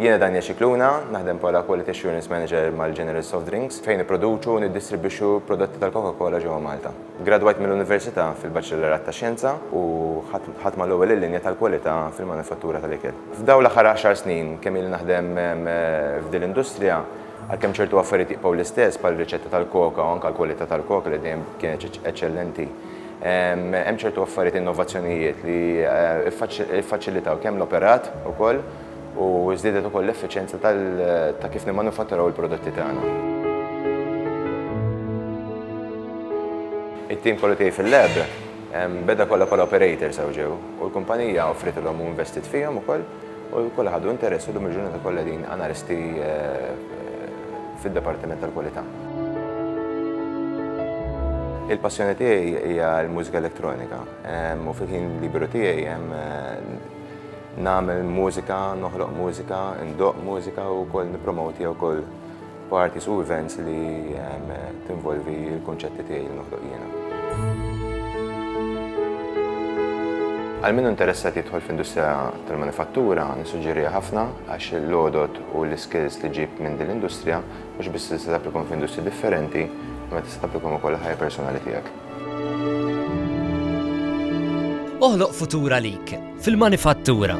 Jiena Daniel Scicluna, naħdem bħala Quality Assurance Manager mal-General Soft Drinks fejn nipproduċu u niddistribwixxu prodotti tal-Coca-Cola ġewwa Malta. Gradwajt mill-Università fil-Baċellerat ta' Xjenza u ħadt mal-ewwel il-linja tal-kwalità fil-manifattura tal-ikel. F'dawn l-aħħar għaxar snin kemm ili naħdem f'din l-industrija, għalkemm ċertu affarijiet jibqgħu l-istess bħal riċetta tal-Coca u anke l-kwalità tal-Coca li dejjem kienet eċċellenti, hemm ċertu affarijiet innovazzjonijiet li ffaċilitaw kemm l-operat ukoll u żdiedet ukoll l-effiċjenza ta' kif nimmanufatturaw il-prodotti tagħna. It-tim kollu tiegħi fil-lab beda kollha bħala operators hawn ġew u l-kumpanija offritilhom u investit fihom ukoll u kollha ħadu interess u llum il-ġurnata kollha qegħdin analisti fid-dipartiment tal-kwalità. Il-passjoni tiegħi hija l-mużika elettronika u fil-ħin liberu tiegħi nagħmel mużika, noħloq mużika, ndoqq mużika u wkoll nippromoti wkoll parties u events li tinvolvi l-kunċetti tiegħi li noħloq jiena. Għal min hu interessat jidħol fl-industrija tal-manifattura, nissuġġeriha ħafna għax l-għodod u l-iskills li ġġib minn din l-industrija mhux biss tista' tapplikhom f'industriji differenti, imma tista' tapplikhom ukoll għall-ħajja personali tiegħek. Oħloq futur għalik fil-manifattura.